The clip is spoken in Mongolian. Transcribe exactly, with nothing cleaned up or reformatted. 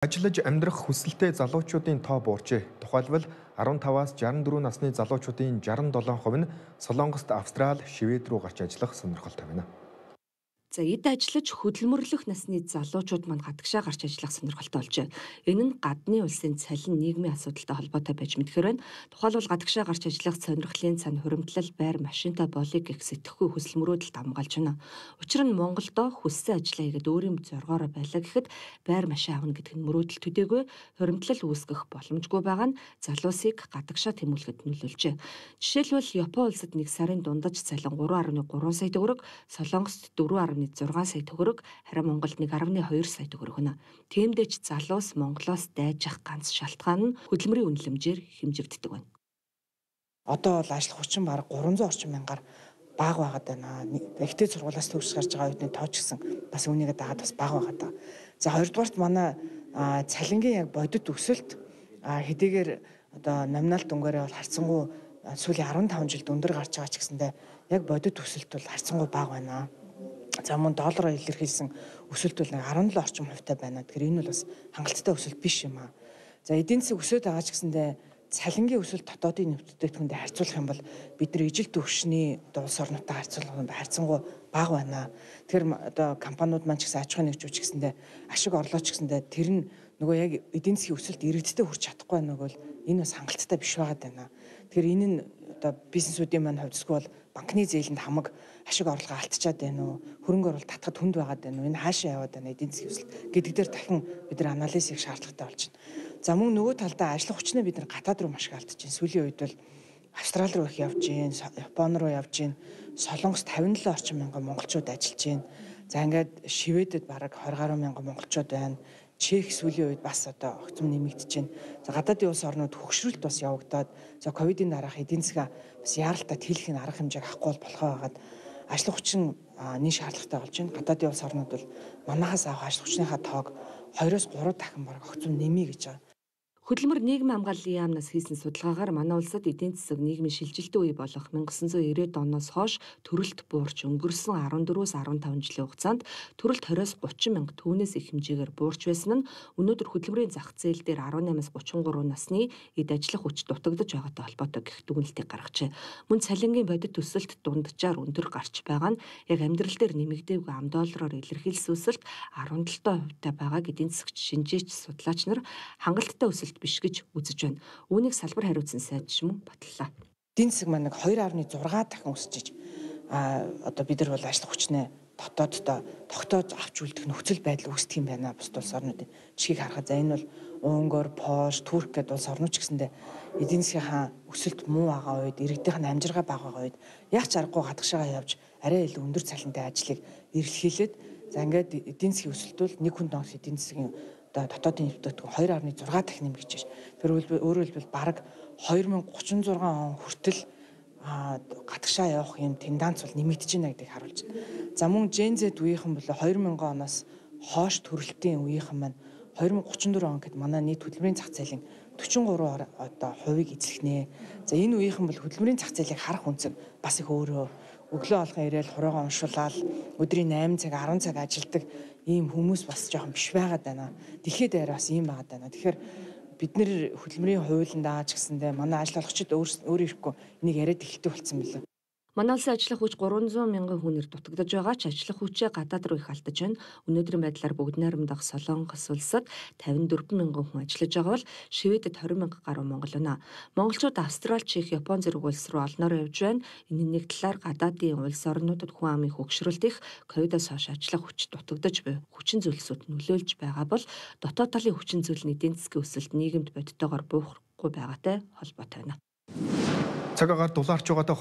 Ажиллаж амьдрах хүсэлтэй залуучуудын тоо буурчээ. Тухайлбал арван таваас жаран дөрвөн насны залуучуудын жаран долоон хувь нь Солонгост, Австрали, Швед рүү гарч ажиллах сонирхолтой байна. За эд ажиллаж хөдөлмөрлөх насны залуучууд манд гадагшаа гарч ажиллах сонирхолтой болжээ. Энэ нь гадны улсын цалин нийгмийн асуудалтай холбоотой байж мэдхээр байна. Тухайлбал гадагшаа гарч ажиллах сонирхлын цань хуримтлал байр машинтай болыг гэх сэтгэхгүй хүсэл мөрөөдөлд хамгаалж байна. Учир нь Монголдо хүссэн ажлаа хийгээд өөрийн зоргоороо байлаа гэхэд байр машин авна гэдэг нь мөрөөдөл төдийгүй хуримтлал үүсгэх боломжгүй байгаа нь залуусыг гадагшаа тэмүүлэхэд нөлөөлжээ. Жишээлбэл Япон улсад нэг сарын дундаж цалин гурван арван гурван сая төгрөг, Солонгост дөрвөн зургаан сая төгрөг, харин Монголд нэг арван хоёр сая төгрөг хөнө. Тиймдээ ч залуус Монголоос дайжих ганц шалтгаан нь хөдөлмөрийн үнэлэмжээр хэмжигддэг байна. Одоо бол ажил хүчин бараг гурван зуун орчим мянгаар бага байгаад байна. Ихтэй сургуулиас төгсөж гарч байгаа үедний тоо ч гэсэн бас үүнийгээ дагаад бас бага байгаад байгаа. За хоёрдугаарт манай цалингийн яг бодит өсөлт хэдийгээр одоо номинал дүнгээрээ бол харьцангуй сүүлийн арван таван жилд өндөр гарч байгаа ч гэсэндээ яг бодит өсөлт бол харьцангуй бага байна. За мөн доллараар илэрхийлсэн өсөлт бол нэг арван долоо орчим хувьтай байна. Тэгэхээр энэ бол бас хангалттай өсөлт биш юм аа. За эдийн засаг өсөд байгаа ч гэсэндээ цалингийн өсөлт дотоодын нэмэгдэхүүнтэй харьцуулах юм бол бид нар ижил түвшний одоо улс орнуудтай харьцуулах юм харьцангуй бага байна. Тэгэхээр одоо компаниуд маань ч гэсэн аж ахуйн нэгжүүч гэсэндээ ашиг орлоо ч гэсэндээ тэр нь нөгөө яг эдийн засгийн өсөлт иргэдтэй хүрч чадахгүй байна бол энэ бас хангалттай биш байгаад байна. Тэгэхээр энэ нь одоо бизнесүүдийн маань хувьдсгүй бол банкны зээлэнд хамаг ашиг орлого алдчихад байна уу? Хөрөнгө оруулалт татахад хүнд байгаад байна уу? Энэ хаашаа яваад байна эдийн засгийн өсөлт гэдэг дээр дахин бид нар анализ хийх шаардлагатай болж байна. За мөн нөгөө талдаа ажлах хүчнээ бид нар гадаад руу маш их алдаж байна. Сүүлийн үед бол Австрали руу их явж гин, Япон руу явж гин, Солонгост тавин долоо орчим мянган монголчууд ажиллаж гин. За ингээд Шведэд бараг двадцать гаруй мянган монголчууд байна. Чех сүүлийн үед бас одоо огцом нэмэгдэж байна. За гадаадын улс орнууд хөгшрөлт бас явагдаад за ковидын дараах эдийн засгаа бас яаралтай тэлэх арга хэмжээг авахгүй болохоо байгаад ажлах хүчин нэг шаардлагатай болж байна. Гадаадын улс орнууд бол манахаас авах ажлах хүчнийхаа тоог хоёроос гурав дахин бараг огцом нэмье гэж байгаа. Хөдөлмөр нийгмийн хамгааллын яамнаас хийсэн судалгаагаар манай улсад эдийн засаг нийгмийн шилжилтийн үе болох 천구၉ирээд оноос хойш төрөлт буурч өнгөрсөн арван дөрвөөс арван таван жилийн хугацаанд төрөлт двадцать мянга мянга түүнээс их хэмжээгээр буурч байсан нь өнөөдөр хөдөлмөрийн зах зээл дээр арван наймаас гуравчин гурав насны эд ажиллах хүч дутагдж байгаатай холбоотой гэх дүгнэлтийг гаргажээ. Мөн цалингийн бодит өсөлт дунджаар өндөр гарч байгаа нь яг амьдрал дээр нэмэгдээгүй ам доллараар илэрхийлсэн өсөлт арван долоо хувьтай байгааг эдийн засагч шинжээч судлаач нар хангалттай өсөлт биш гэж үзэж байна. Үүнийг салбар хариуцсан сайдч мөн батллаа. Эдийн засаг маань нэг хоёр нугас зураг дахин өсөж а одоо бид нар бол ажлах хүчнээ дотооддоо тогтоож авч үлдэх нөхцөл байдал үүсдэг юм байна. Бусад улс орнуудын жишгийг харахад за энэ бол Унгар, Польш, Турк гэдэг улс орнууд ч гэсэндээ эдийн засгийнхаа өсөлт муу байгаа үед, иргэдийнх нь амжиргаа бага байгаа үед яг ч аргагүй гадагшаагаа явж арай илүү өндөр цалинтай ажлыг эрэлхийлээд за ингээд эдийн засгийн өсөлт бол нэг хүн доорх эдийн засгийн одоо дотоодын нэмэгдэхүүн хоёр нугас зураг дахин нэмэгдэж байна. Тэр өөрөөр хэлбэл бараг две тысячи тридцать шесть он хүртэл гадагшаа явах юм тенденц бол нэмэгдэж байна гэдгийг харуулж байна. За мөн Gen Z үеийнхэн бол две тысячи оноос хойш төрөлтийн үеийнхэн маань две тысячи тридцать четыре он гэхэд манай нийт хөдөлмөрийн зах зээлийн forty three одоо хувийг эзлэхнэ. За энэ үеийнхэн бол хөдөлмөрийн зах зээлийг харах үнцэг бас их өөрөө өглөө алхан ирээл хураагаа уншуулаад өдрийн eight цаг ten цаг ажилладаг ийм хүмүүс бас жоохон биш байгаад байна. Дэлхийд дээр бас ийм байгаад байна. Тэгэхээр бид нэр хөдөлмөрийн хуулинд аач гэсэндээ манай ажил олгогчид өөрөө ирэхгүй энийг яриад эхэлдэг болсон билээ. Манай улсын ажиллах хүч гурван зуун мянган хүнээр дутагдж байгаа ч ажиллах хүчээ гадаад руу их алдаж байна. Өнөөдрийн байдлаар бүгд найрамдах Солонгос улсад пятьдесят четыре мянган хүн ажиллаж байгаа бол Шведэд twenty мянга гаруй монгол байна. Монголчууд Австрали, Чех, Япон зэрэг улс руу олноор явж байна. Энэ нэг талаар гадаадын улс орнуудад хүн амын хөгшрөлт их, ковидоос хойш ажиллах хүч дутагдж буй хүчин зүйлсүүд нөлөөлж байгаа бол дотоод талын хүчин зүйл нь эдийн засгийн өсөлт нийгэмд бодитоогоор буурахгүй байгаатай холбоотой байна. Цаг агаар дулаарч байгаа